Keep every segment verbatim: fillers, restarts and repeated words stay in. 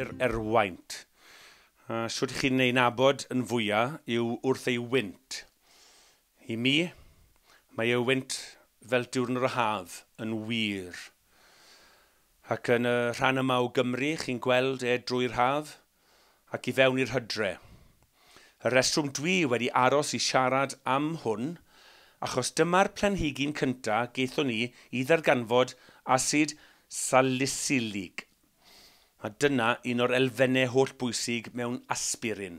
Neu'r erwaint. A shwt chi'n ei nabod yn fwyaf yw wrth ei wynt. I mi, mae ei wynt fel diwrnod o haf yn wir. Ac yn y rhan yma o Gymru, chi'n gweld e drwy'r haf ac i fewn i'r hydre. Y reswm dwi wedi aros i siarad am hwn, achos dyma'r planhigyn cyntaf gaethon ni i ddarganfod asid salicylig. A dyna un o'r elfennau holl bwysig mewn aspirin.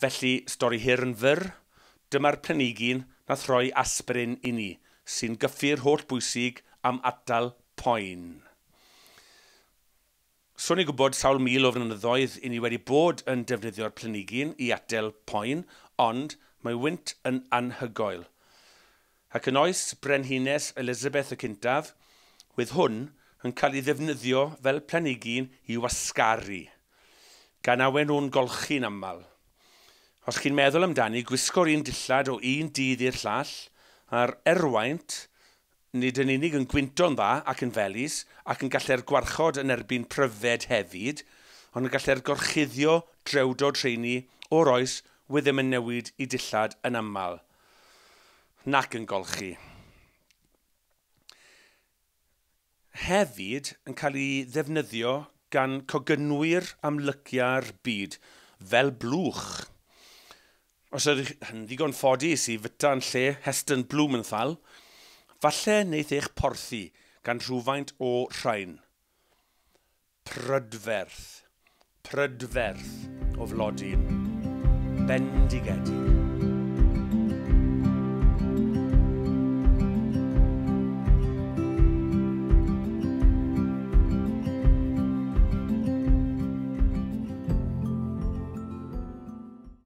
Felly, stori hir yn fyr, dyma'r planhigyn nath rhoi aspirin i ni, sy'n gyffur holl bwysig am atal poen. So ni'n gwybod sawl mil o flynyddoedd i ni wedi bod yn defnyddio'r planhigyn i atal poen, ond mae wynt yn anhygoel. Ac yn oes Brenhines Elizabeth y Cyntaf, wedd hwn yn cael ei ddefnyddio fel planhigyn i wasgaru, gan awen nhw'n golchi'n aml. Os chi'n meddwl amdani, gwisgo'r un dillad o un dydd i'r llall, a'r erwaint nid yn unig yn gwynto'n dda ac yn felys, ac yn gallu'r gwarchod yn erbyn pryfed hefyd, ond yn gallu'r gorchuddio drewdod rheini o'r oes wedd ddim yn newid i dillad yn aml, nac yn golchi. Hefyd yn cael ei ddefnyddio gan cogynwyr amlycia'r byd, fel blwch. Os ydych yn ddigon ffodus i fyta yn lle Heston Blumenthal, falle wneith eich porthi gan rhywfaint o rhain. Prydferth, prydferth o flodyn, bendigedig.